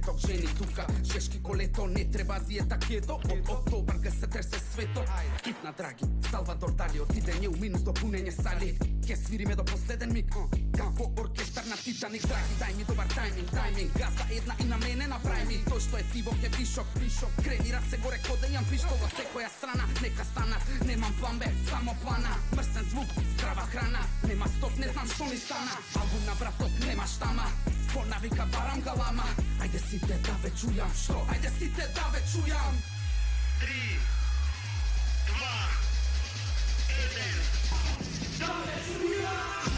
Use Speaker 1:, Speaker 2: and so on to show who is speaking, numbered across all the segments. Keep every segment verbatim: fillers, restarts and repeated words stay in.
Speaker 1: светок жени тука. Жешки колето, не треба диета кето. Од октобар га се тресе светот. Хитна драги, Салвадор Дали, отидење у минус до пунење сали. Ке свириме до последен миг, како оркестар на Титаник. Драги, дај ми добар тајминг, тајминг. Газа една и на мене направи ми. Тој што е тиво ке пишок, пишок. Крени раце горе ко да јам пиштол од секоја страна. Нека станат, немам план Б, само плана. Мрсен звук, здрава храна. Нема стоп, не знам што ми стана. Албум на братот, нема штама. По навика барам галама. Ајде сите да ве чујам, што? Ајде сите да ве чујам. Три, два, еден. Да ве чујам.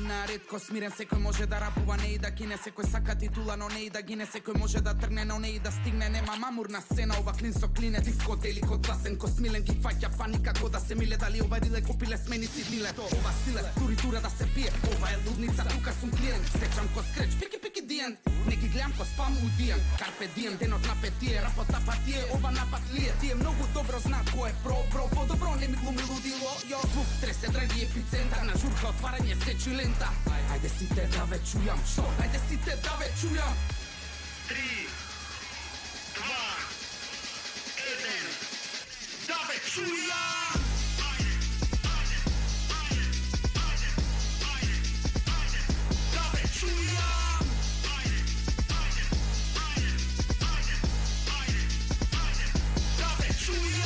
Speaker 1: На ретко смирен, секој може да рапува, не и да кине, секој сака титула, но не и да гине, секој може да тргне, но не и да стигне, нема мамурна сцена, ова клин со клине, диско дели код гласен, ко смилен ги фаќа паника, ко да се миле, дали ова риле купиле смени си диле, ова стиле, тури тура да се пие, ова е лудница, тука сум клиент, сечам ко скреч, пики пики диен, не ги гледам ко спам удиен, карпе дием, денот на петие, рапот на тие, ова напад лие, тие многу добро знаат кој е про, бро, по-добро не ми глуми лудило, јо, звук тресе драги епицентар, на журка отварање сечи лента. Ајде сите да ве чујам, што? Ајде сите да ве чујам. Три, два, еден. Да ве чујам. Да ве чујам. Да ве чујам.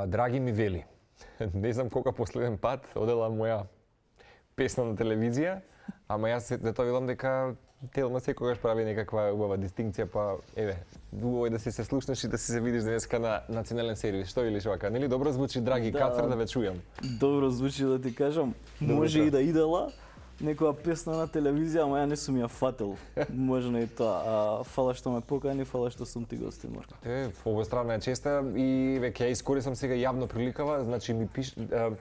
Speaker 2: Драги ми вели, не знам колка последен пат одела моја песна на телевизија, ама јас зато видам дека Телма секогаш прави некаква убава дистинкција, па еве, убаво е да си се слушнеш и да си се видиш денеска на национален сервис. Што велиш вака? Нели добро звучи, драги да, Кацар, да ве чујам?
Speaker 3: Добро звучи, да ти кажам. Може и да идела некоја песна на телевизија, ама ја не сум ја фател. Можно и тоа. А, фала што ме покани, фала што сум ти гостин, Марко.
Speaker 2: Е, овој страна е честа и веќе ја искористам сега јавно приликава, значи ми пиш а,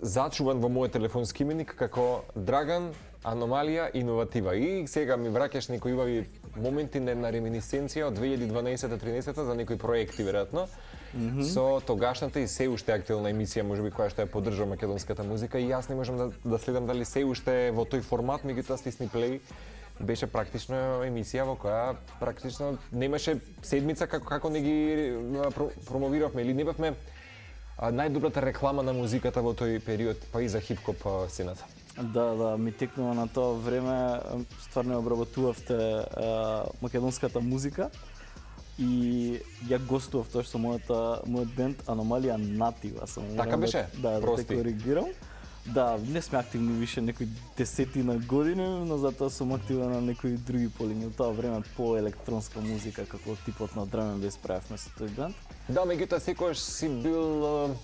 Speaker 2: зачуван во мојот телефонски именик како Драган Аномалија Иноватива. И сега ми враќаш некои убави моменти на реминисценција од две илјади дванаесета-тринесета за некои проекти веројатно. Mm -hmm. Со тогашната и се уште актуелна емисија, можеби која што ја поддржува македонската музика, и јас не можам да, да следам дали се уште е во тој формат, меѓутоа стисни плей беше практично емисија во која практично немаше седмица како како не ги промовиравме или не бевме најдобрата реклама на музиката во тој период, па и за хип-хоп сцената.
Speaker 3: Да, да, ми текнува на тоа време, стварно обработувавте македонската музика. И ја гостував тоа што мојата мојот бенд Аномалија Натива сам.
Speaker 2: Така беше?
Speaker 3: Да, да те коригирам. Да, не сме активни више некои десетина години, но затоа сум активен на некои други полиња. Во тоа време по електронска музика, како типот на драм енд бейс правевме со тој бенд.
Speaker 2: Да, меѓутоа секогаш си бил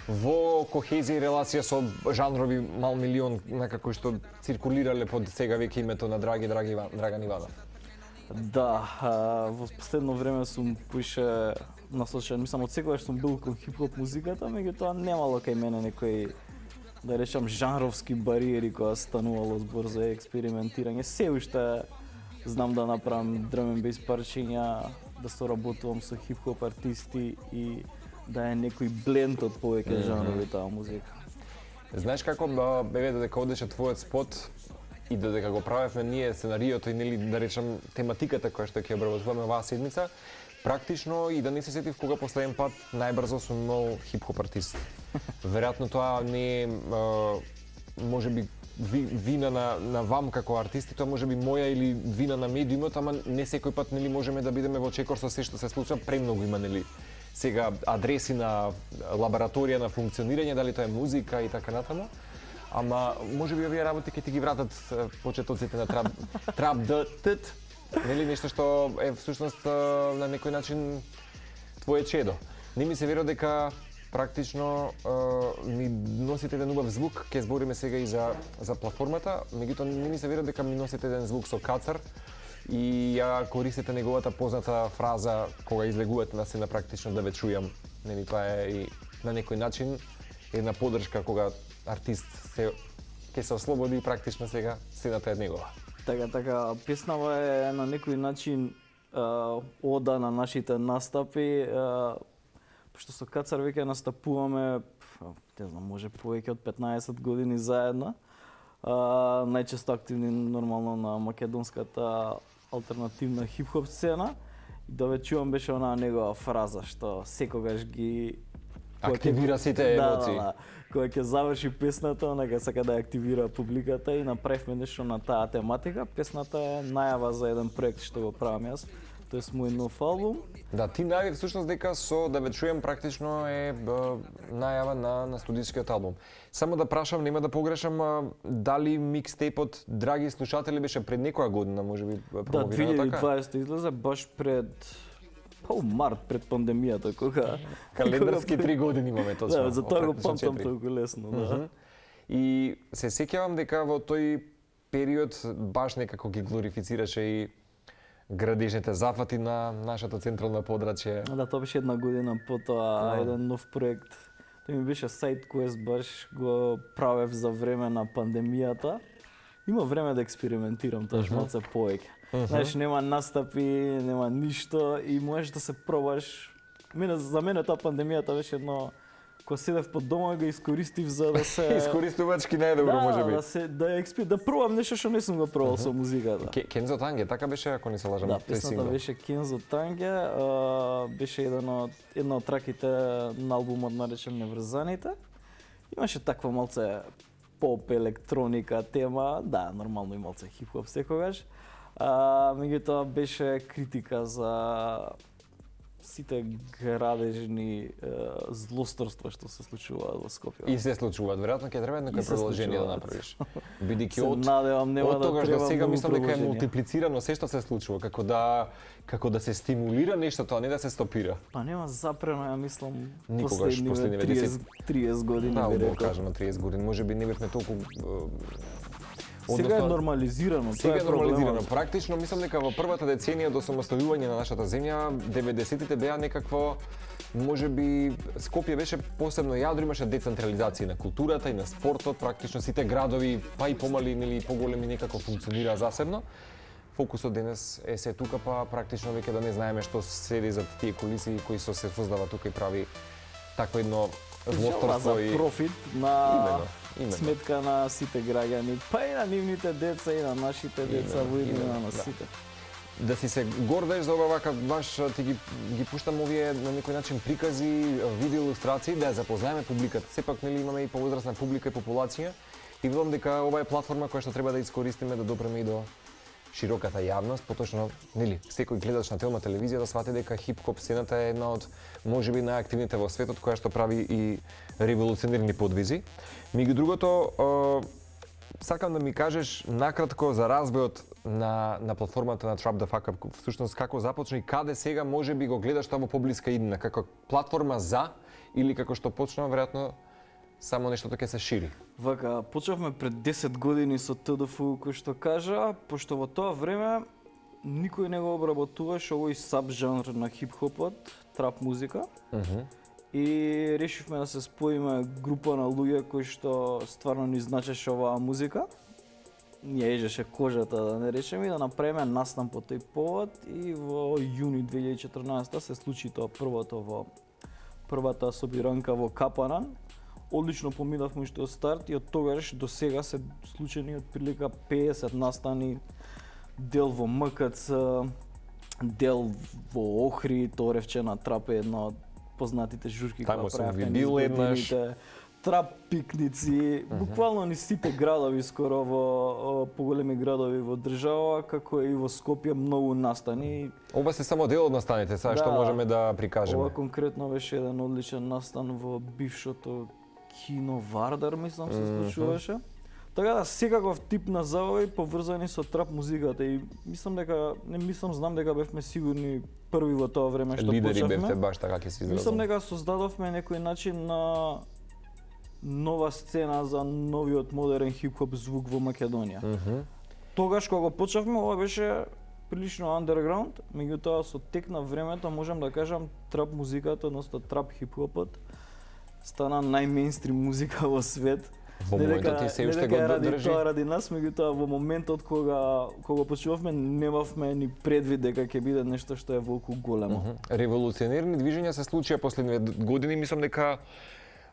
Speaker 2: во кохезија и релација со жанрови мал милион, некако што циркулирале под сега веќе името на Драги Драги Иван, Драган Иванов.
Speaker 3: Да, во последно време сум поише насочен, мислам од секогаш сум бил кон хип-хоп музиката, меѓутоа немало кај мене некои, да речам, жанровски бариери која станувало збор за експериментирање. Се уште знам да направам драм енд бейс парчиња, да соработувам со хип-хоп артисти и да е некој бленд од повеќе жанрови таа музика.
Speaker 2: Знаеш како бе додека одеше твојот спот и додека го правевме ние сценариото и нели да речам тематиката која што ќе обработуваме оваа седмица, практично и да не се сетив кога последен пат најбрзо сум имал хип-хоп артист. Веројатно тоа не е можеби вина на на вам како артисти, тоа можеби моја или вина на медиумот, ама не секој пат нели можеме да бидеме во чекор со се што се случува, премногу има нели сега адреси на лабораторија на функционирање, дали тоа е музика и така натаму. Ама можеби овие работи ќе ти ги вратат почетоците на трап трап д тт, нели нешто што е всушност на некој начин твое чедо. Не ми се верува дека практично ми носите еден убав звук, ќе збориме сега и за за платформата, меѓутоа не ми се верува дека ми носите еден звук со кацар и ја користите неговата позната фраза кога излегувате на сцена практично да ве чујам. Нели тоа е и на некој начин една подршка кога артист се ќе се ослободи и практично сега сцената е негова.
Speaker 3: Така, така, песнава е на некој начин а, ода на нашите настапи, а, пошто со Кацар веќе настапуваме, не знам, може повеќе од петнаесет години заедно. А, најчесто активни нормално на македонската алтернативна хип-хоп сцена. И да ве чувам беше онаа негова фраза што секогаш ги
Speaker 2: активира сите емоции.
Speaker 3: Да, да, да. Кога ќе заврши песната, она ќе сака да ја активира публиката и направивме нешто на таа тематика. Песната е најава за еден проект што го правам јас. Тоа е мој нов албум.
Speaker 2: Да, ти најави всушност дека со да ве чуем практично е б, најава на на студискиот албум. Само да прашам, нема да погрешам, а, дали микстейпот Драги слушатели беше пред некоја година, можеби
Speaker 3: Да,
Speaker 2: промовирано
Speaker 3: две илјади и
Speaker 2: така?
Speaker 3: дваесета излезе баш пред па у март пред пандемијата кога
Speaker 2: Календарски три години имаме точно.
Speaker 3: Да, за тоа го
Speaker 2: практично
Speaker 3: памтам
Speaker 2: четири.
Speaker 3: толку лесно, да.
Speaker 2: Мгм. И се сеќавам дека во тој период баш некако ги глорифицираше и градежните зафати на нашата централна подрачје.
Speaker 3: Да, тоа беше една година потоа
Speaker 2: Да.
Speaker 3: еден нов проект. Тој ми беше сайт quest, баш го правев за време на пандемијата. Има време да експериментирам, тоа
Speaker 2: Мгм.
Speaker 3: малце повеќе. Знаеш, нема настапи, нема ништо и можеш да се пробаш. Мене, за мене таа пандемијата беше едно кога седев под дома го искористив за да се
Speaker 2: Искористувачки најдобро
Speaker 3: да,
Speaker 2: можеби.
Speaker 3: да се да експи, да пробам нешто што не сум го пробал со музиката.
Speaker 2: Ке- Кензо Танге, така беше ако не се лажам.
Speaker 3: Да,
Speaker 2: тој
Speaker 3: песната
Speaker 2: сингл.
Speaker 3: беше Кензо Танге, а, беше еден од една од траките на албумот наречен Неврзаните. Имаше таква малце поп електроника тема, да, нормално и малце хип-хоп секогаш. А, меѓутоа беше критика за сите градежни е, злосторства што се случуваат во Скопје.
Speaker 2: И се случуваат, веројатно ќе треба
Speaker 3: И
Speaker 2: некој
Speaker 3: се
Speaker 2: продолжение да
Speaker 3: случуваат.
Speaker 2: направиш. Бидејќи
Speaker 3: Се
Speaker 2: од
Speaker 3: надевам нема
Speaker 2: од
Speaker 3: да
Speaker 2: тогаш до
Speaker 3: треба
Speaker 2: сега
Speaker 3: многу
Speaker 2: мислам дека е
Speaker 3: продолжение.
Speaker 2: мултиплицирано се што се случува, како да како да се стимулира нештото, а не да се стопира.
Speaker 3: Па нема запрено, ја мислам,
Speaker 2: Никогаш,
Speaker 3: последниве
Speaker 2: последниве
Speaker 3: триесет, триесет години
Speaker 2: Да,
Speaker 3: би
Speaker 2: убаво
Speaker 3: рекол.
Speaker 2: кажано триесет години, можеби не бевме толку
Speaker 3: Сега е нормализирано,
Speaker 2: Сега
Speaker 3: тоа
Speaker 2: е
Speaker 3: е
Speaker 2: нормализирано.
Speaker 3: проблемот.
Speaker 2: Практично мислам дека во првата деценија до самостојување на нашата земја, деветдесетите беа некакво можеби Скопје беше посебно јадро, имаше децентрализација на културата и на спортот, практично сите градови, па и помали или поголеми некако функционираа засебно. Фокусот денес е се тука, па практично веќе да не знаеме што седи зад тие кулиси кои со се создава тука и прави такво едно
Speaker 3: Жала
Speaker 2: злосторство
Speaker 3: за
Speaker 2: и
Speaker 3: профит на
Speaker 2: Именно, именно.
Speaker 3: сметка на сите граѓани, па и на нивните деца и на нашите деца
Speaker 2: Именно,
Speaker 3: во иднина
Speaker 2: именно,
Speaker 3: на
Speaker 2: да.
Speaker 3: сите.
Speaker 2: да си се гордеш за ова вака баш ти ги ги пуштам овие на некој начин прикази, видео илустрации да ја запознаеме публиката. Сепак нели имаме и повозрасна публика и популација и верувам дека ова е платформа која што треба да искористиме да допреме и до широката јавност, поточно нели секој гледач на Телма телевизија да свати дека хип-хоп сцената е една од можеби најактивните во светот која што прави и револуционерни подвизи. Меѓу другото, е, сакам да ми кажеш накратко за развојот на на платформата на Trap the Fuck Up, всушност како започна и каде сега можеби го гледаш тоа во поблиска иднина, како платформа за или како што почна веројатно само нештото ќе се шири.
Speaker 3: Вака, почнавме пред десет години со Т Д Ф, кој што кажа, пошто во тоа време никој не го обработуваше овој саб-жанр на хип-хопот, трап музика.
Speaker 2: Мгм.
Speaker 3: И решивме да се споиме група на луѓе кои што стварно ни значеше оваа музика. Ни ја ежеше кожата, да не речеме, и да направиме настан по тој повод и во јуни две илјади и четрнаесета се случи тоа првото во првата собиранка во Капанан. Одлично поминавме уште од старт и од тогаш до сега се случени од прилика пеесет настани, дел во М К Ц, дел во Охри, Торевче на трап е една од познатите журки кои
Speaker 2: Таму сум
Speaker 3: правевме
Speaker 2: ви
Speaker 3: низ
Speaker 2: бил еднаш.
Speaker 3: годините. Трап пикници, буквално ни сите градови скоро во о, поголеми градови во држава, како и во Скопје многу настани.
Speaker 2: Ова се само дел од настаните, сега
Speaker 3: Да.
Speaker 2: што можеме да прикажеме.
Speaker 3: Ова конкретно беше еден одличен настан во бившото кино Вардар, мислам се случуваше. Така да, секаков тип на забави поврзани со трап музиката и мислам дека, не мислам, знам дека бевме сигурни први во тоа време што
Speaker 2: Лидери
Speaker 3: почнавме.
Speaker 2: бевте баш така ќе се изразам.
Speaker 3: Мислам дека создадовме некој начин на нова сцена за новиот модерен хип-хоп звук во Македонија.
Speaker 2: Мгм.
Speaker 3: Тогаш кога го почнавме, ова беше прилично underground, меѓутоа со тек на времето можам да кажам трап музиката, односно трап хип-хопот стана најмейнстрим музика во свет.
Speaker 2: Во
Speaker 3: Не дека-
Speaker 2: моментот ти се
Speaker 3: не
Speaker 2: уште
Speaker 3: дека
Speaker 2: го
Speaker 3: е ради
Speaker 2: држи.
Speaker 3: тоа ради нас, меѓутоа во моментот кога кога почнувавме немавме ни предвид дека ќе биде нешто што е волку големо.
Speaker 2: Мгм. Револуционерни движења се случија последниве години, мислам дека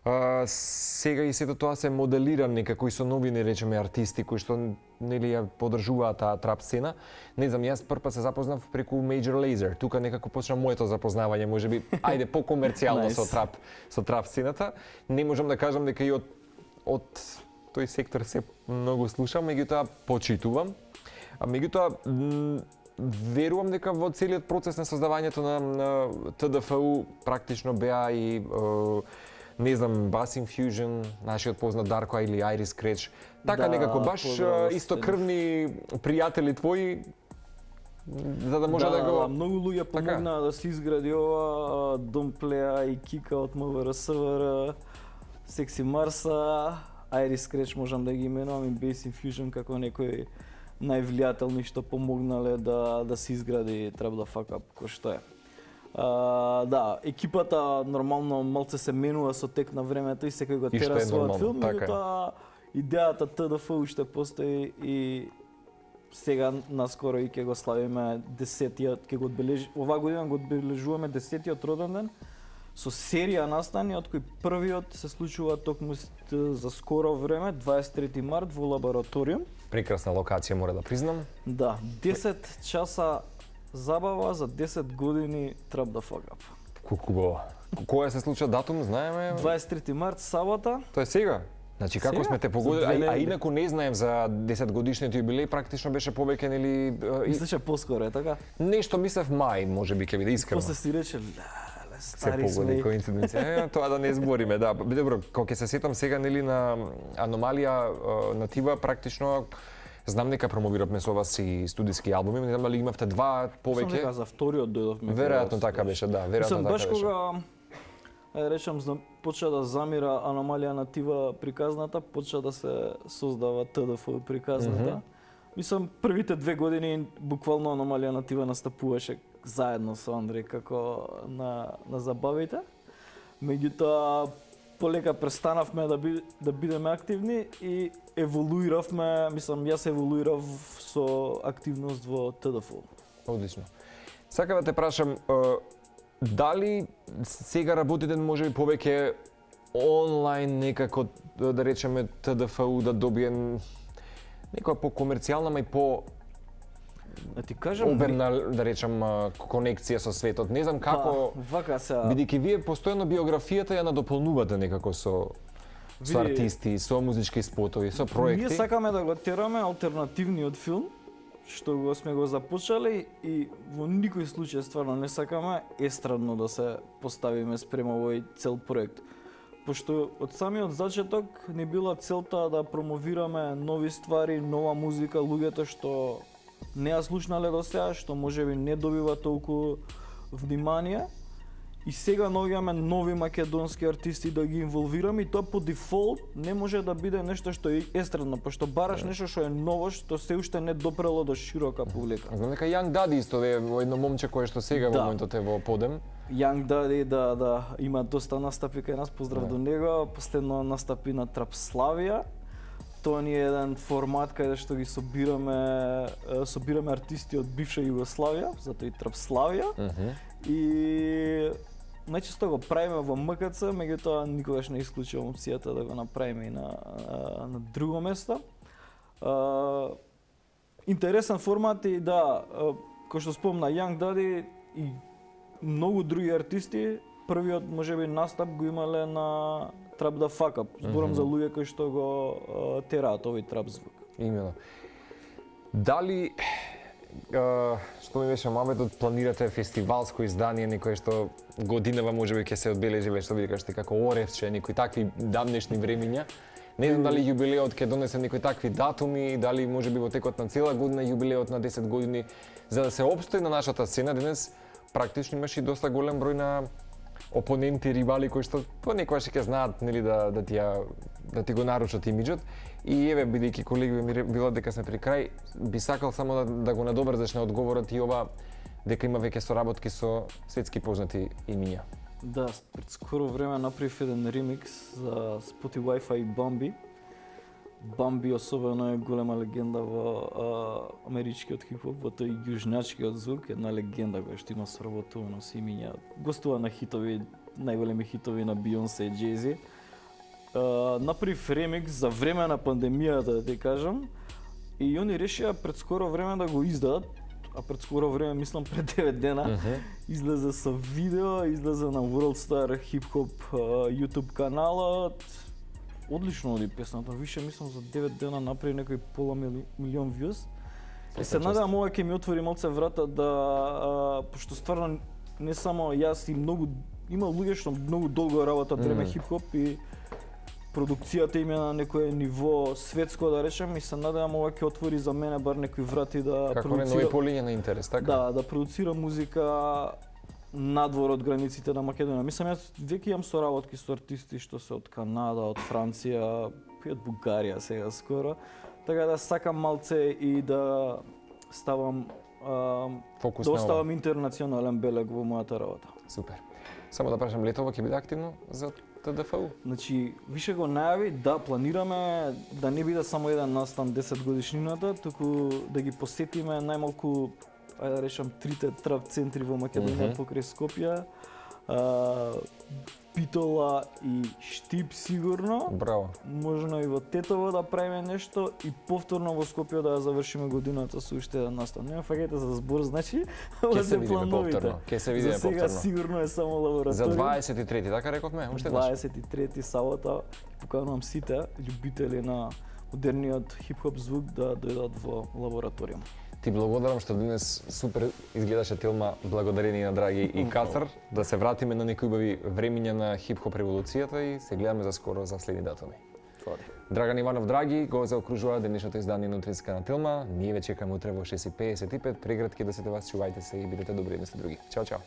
Speaker 2: а, сега и сето тоа се моделира некако и со нови, не речеме, артисти кои што нели ја поддржуваат таа трап сцена. Не знам, јас прв пат се запознав преку Major Lazer. Тука некако почна моето запознавање, можеби ајде покомерцијално
Speaker 3: Nice.
Speaker 2: со трап, со трап сцената. Не можам да кажам дека и од од тој сектор се многу слушам, меѓутоа почитувам. А меѓутоа м, верувам дека во целиот процес на создавањето на, на Т Д Ф У практично беа и е, не знам, Bass Infusion, нашиот познат Дарко или Iris Scratch. Така
Speaker 3: Да,
Speaker 2: некако баш
Speaker 3: поздрав,
Speaker 2: е, истокрвни пријатели твои за да може да,
Speaker 3: да,
Speaker 2: го
Speaker 3: да, многу луѓе
Speaker 2: Така.
Speaker 3: помогнаа да се изгради ова, Домплеа и Кика од М В Р С В Р, Секси Марса, Iris Scratch можам да ги именувам и Bass Infusion како некои највлијателни што помогнале да да се изгради Trap the Fuck Up кој што е. А, да, екипата нормално малце се менува со тек на времето и секој го
Speaker 2: И што
Speaker 3: тера
Speaker 2: е
Speaker 3: својот
Speaker 2: нормално,
Speaker 3: филм,
Speaker 2: така е.
Speaker 3: меѓутоа идејата Т Д Ф уште постои и сега наскоро и ќе го славиме десетиот, ќе го одбележи, оваа година го одбележуваме десетиот роден ден со серија настани од кои првиот се случува токму с- за скоро време, дваесет и трети март во лабораториум.
Speaker 2: прекрасна локација, мора да признам.
Speaker 3: Да, десет часа забава за десет години Trap the Fuck Up.
Speaker 2: Колку убаво. Која се случува датум, знаеме?
Speaker 3: дваесет и трети март, сабота.
Speaker 2: Тоа е сега. Значи како
Speaker 3: Сега?
Speaker 2: сме те
Speaker 3: За
Speaker 2: погодили,
Speaker 3: две
Speaker 2: а, а
Speaker 3: недели.
Speaker 2: инаку не знаем за десет годишниот јубилеј, практично беше повеќе нели е, и-
Speaker 3: Мислиш е поскоро, е така?
Speaker 2: нешто мислев мај, можеби ќе биде искрено.
Speaker 3: После си рече, леле,
Speaker 2: Се
Speaker 3: стари сме.
Speaker 2: погоди коинциденција. Е, тоа да не збориме, да. Добро, кога ќе се сетам сега нели на Аномалија е, натива практично знам дека промовиравме со вас и студиски албуми, не знам дали имавте два
Speaker 3: Сам
Speaker 2: повеќе.
Speaker 3: дека за вториот дојдовме.
Speaker 2: Веројатно така беше, да, веројатно
Speaker 3: Мислам,
Speaker 2: така
Speaker 3: баш
Speaker 2: беше.
Speaker 3: кога е, речам, зна- почна да замира Аномалија натива приказната, почна да се создава Т Д Ф приказната.
Speaker 2: Мгм.
Speaker 3: Мислам, првите две години буквално Аномалија натива настапуваше заедно со Андреј како на, на забавите. Меѓутоа, полека престанавме да, би, да бидеме активни и еволуиравме, мислам, јас еволуирав со активност во Т Д Ф.
Speaker 2: Одлично. Сакам да те прашам, е, дали сега работите можеби повеќе онлайн некако, да речеме, Т Д Ф У да добие некоја по-комерцијална, ма и по
Speaker 3: Да ти кажам,
Speaker 2: обемна, да речем, а, конекција со светот. Не знам како,
Speaker 3: Па, вака сега.
Speaker 2: бидејќи вие постојано биографијата ја надополнувате некако со со
Speaker 3: Види,
Speaker 2: артисти, со музички спотови, со проекти.
Speaker 3: Ние сакаме да го тераме алтернативниот филм, што го сме го започнале и во никој случај стварно не сакаме естрадно да се поставиме спрема овој цел проект. Пошто од самиот зачеток ни била целта да промовираме нови ствари, нова музика, луѓето што не ја слушнале до сега, што можеби не добива толку внимание. И сега наоѓаме нови македонски артисти да ги инволвираме и тоа по дефолт не може да биде нешто што е естрадно, пошто бараш нешто што е ново, што се уште не допрело до широка публика.
Speaker 2: Знам дека Young Daddy исто е во едно момче кое што сега во
Speaker 3: Да.
Speaker 2: моментот е во подем.
Speaker 3: Young Daddy, да, да, има доста настапи кај нас, поздрав
Speaker 2: Да.
Speaker 3: до него, последно настапи на Трап Славија. Тоа ни е еден формат каде што ги собираме, е, собираме артисти од бивша Југославија, затоа и Трап Славија.
Speaker 2: Мгм.
Speaker 3: И најчесто го правиме во М К Ц, меѓутоа никогаш не исклучувам опцијата да го направиме и на, а, на друго место. А, интересен формат и да, а, кој што спомна Young Daddy и многу други артисти, првиот можеби настап го имале на Trap the Fuck Up. Зборам mm -hmm. за луѓе кои што го а, тераат овој трап звук.
Speaker 2: Имено. Дали Uh, што ми беше маметот, планирате фестивалско издание, некое што годинава можеби ќе се одбележи, што ви кажете, како Оревче, некои такви давнешни времиња. Не знам дали јубилеот ќе донесе некои такви датуми, дали можеби во текот на цела година јубилеот на десет години, за да се опстои на нашата сцена. Денес практично имаше и доста голем број на опоненти, рибали кои што понекогаш ќе знаат, нели, да да ти ја, да ти го нарушат имиџот. И еве, бидејќи колеги ми било дека сме при крај, би сакал само да, да го надобрзаш на одговорот и ова дека има веќе соработки со светски познати имиња.
Speaker 3: Да, пред скоро време направив еден ремикс за Spotify Wi-Fi и Bambi. Bambi особено е голема легенда во а, америчкиот хип-хоп, во тој јужначкиот звук, една легенда која што има соработувано со имиња. Гостува на хитови, најголеми хитови на Beyoncé и Jay-Z. Uh, направив ремикс за време на пандемијата, да ти кажам, и они решија пред скоро време да го издадат, а пред скоро време, мислам пред девет дена, uh -huh. излезе со видео, излезе на World Star Hip Hop uh, YouTube каналот. Одлично оди песната, више мислам за девет дена направи некој пола мили, милион вјуз. И се надевам ова ќе ми отвори малце врата да, uh, пошто стварно не само јас и многу, има луѓе што многу долго работат време mm. хип-хоп и продукцијата им е на некое ниво светско, да речем, и се надевам ова ќе отвори за мене бар некои врати да
Speaker 2: како
Speaker 3: продуцира...
Speaker 2: Како нови полиња на интерес, така?
Speaker 3: Да, да продуцира музика надвор од границите на Македонија. Мислам, јас веќе имам соработки со артисти што се од Канада, од Франција, и од Бугарија сега скоро. Така да сакам малце и да ставам а,
Speaker 2: Фокус
Speaker 3: да
Speaker 2: на
Speaker 3: оставам интернационален белег во мојата работа.
Speaker 2: Супер. Само да прашам, летово ќе биде активно за Т Д Ф У?
Speaker 3: Значи, више го најави, да, планираме да не биде само еден настан десет годишнината, туку да ги посетиме најмалку, ајде да речам, трите трап центри во Македонија mm -hmm. покрај Скопје, а, Битола и Штип сигурно.
Speaker 2: Браво.
Speaker 3: Можно и во Тетово да правиме нешто и повторно во Скопје да ја завршиме годината со уште еден настан. Не фаќајте за збор, значи,
Speaker 2: ке се видиме повторно. Ке се видиме повторно.
Speaker 3: За сега сигурно е само лабораторија.
Speaker 2: За дваесет и трети, така рековме, уште еднаш.
Speaker 3: дваесет и трети сабота поканувам сите љубители на модерниот хип-хоп звук да дојдат во лабораторија.
Speaker 2: Ти благодарам што денес супер изгледаше Тилма, благодарение на Драги и Катар, да се вратиме на некои убави времиња на хип-хоп револуцијата и се гледаме за скоро за следни датуми.
Speaker 3: Слади.
Speaker 2: Драган Иванов Драги го заокружува денешното издание на утринска на Тилма. Ние ве чекаме утре во шест и педесет и пет. Прегратки да се те вас, чувајте се и бидете добри едни со други. Чао, чао.